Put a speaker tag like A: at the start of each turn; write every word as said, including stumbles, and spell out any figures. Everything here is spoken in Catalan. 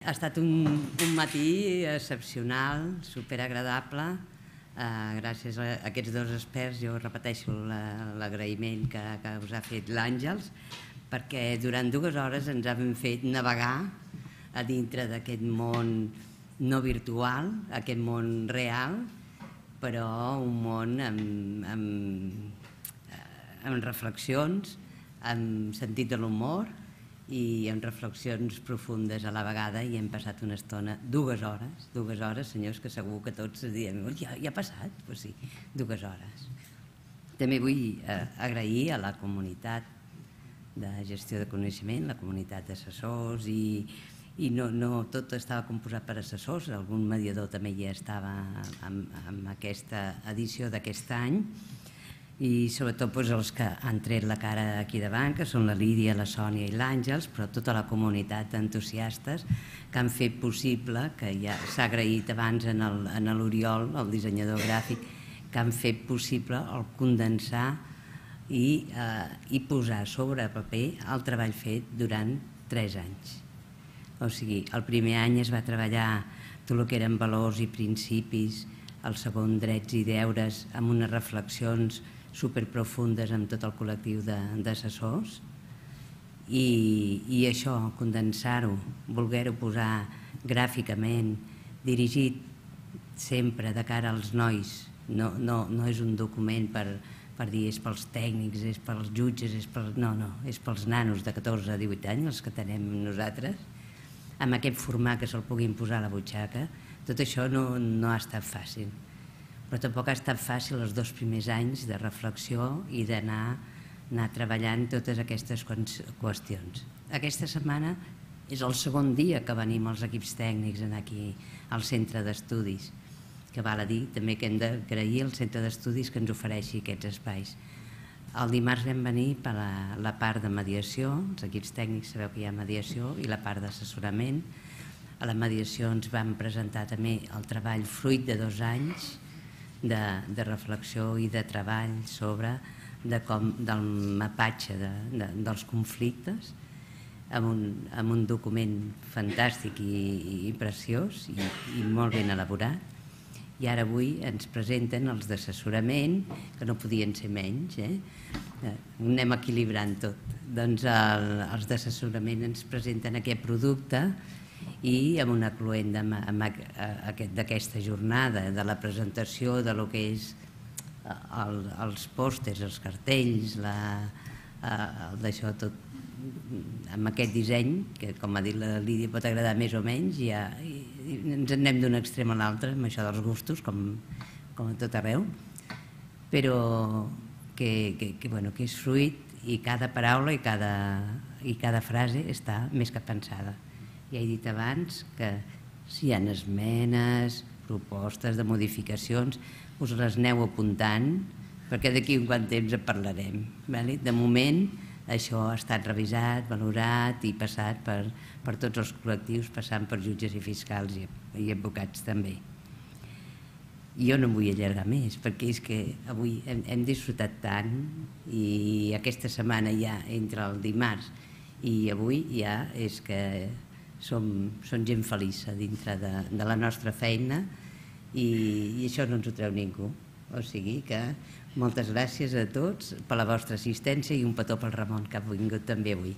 A: Ha estat un, un matí excepcional, superagradable. Uh, gràcies a aquests dos experts, jo repeteixo l'agraïment que, que us ha fet l'Àngels, perquè durant dues hores ens han fet navegar a dintre d'aquest món no virtual, aquest món real, però un món amb, amb, amb reflexions, amb sentit de l'humor i amb reflexions profundes a la vegada, i hem passat una estona, dues hores, dues hores, senyors, que segur que tots diem, ja, ja ha passat? Doncs sí, dues hores. També vull eh, agrair a la comunitat de gestió de coneixement, la comunitat d'assessors, i, i no, no tot estava composat per assessors, algun mediador també ja estava en, en aquesta edició d'aquest any, i sobretot doncs, els que han tret la cara aquí davant, que són la Lídia, la Sònia i l'Àngels, però tota la comunitat d'entusiastes que han fet possible, que ja s'ha agraït abans en l'Oriol, el dissenyador gràfic, que han fet possible el condensar i, eh, i posar sobre paper el treball fet durant tres anys. O sigui, el primer any es va treballar tot el que eren valors i principis, el segon drets i deures, amb unes reflexions superprofundes amb tot el col·lectiu d'assessors, i, i això, condensar-ho, voler-ho posar gràficament, dirigit sempre de cara als nois, no, no, no és un document per, per dir és pels tècnics, és pels jutges, és per, no, no, és pels nanos de catorze a divuit anys, els que tenem nosaltres, amb aquest format que se'l puguin posar a la butxaca. Tot això no, no ha estat fàcil. Però tampoc ha estat fàcil els dos primers anys de reflexió i d'anar anar treballant totes aquestes qüestions. Aquesta setmana és el segon dia que venim els equips tècnics aquí al centre d'estudis, que val a dir també que hem d'agrair al centre d'estudis que ens ofereixi aquests espais. El dimarts vam venir per la, la part de mediació, els equips tècnics sabeu que hi ha mediació, i la part d'assessorament. A la mediació ens vam presentar també el treball fruit de dos anys, De, de reflexió i de treball sobre de com, del mapatge de, de, dels conflictes, amb un, amb un document fantàstic i, i preciós i, i molt ben elaborat. I ara avui ens presenten els d'assessorament, que no podien ser menys, eh? Ho anem equilibrant tot. Doncs el, els d'assessorament ens presenten aquest producte, i amb una cluent d'aquesta jornada, de la presentació de lo que és el, els pòsters, els cartells, d'això tot, amb aquest disseny, que com ha dit la Lídia pot agradar més o menys, ja, i, i ens en anem d'un extrem a l'altre, amb això dels gustos, com, com a tot arreu, però que, que, que, bueno, que és fruit, i cada paraula i cada, i cada frase està més que pensada. Ja he dit abans que si hi ha esmenes, propostes de modificacions, us les aneu apuntant, perquè d'aquí un quant temps en parlarem. De moment, això ha estat revisat, valorat i passat per, per tots els col·lectius, passant per jutges i fiscals i, i advocats també. Jo no em vull allargar més, perquè és que avui hem, hem disfrutat tant, i aquesta setmana ja, entre el dimarts i avui, ja és que Som, som gent feliç dintre de, de la nostra feina, i, i això no ens ho treu ningú. O sigui que moltes gràcies a tots per la vostra assistència, i un petó pel Ramon, que ha vingut també avui.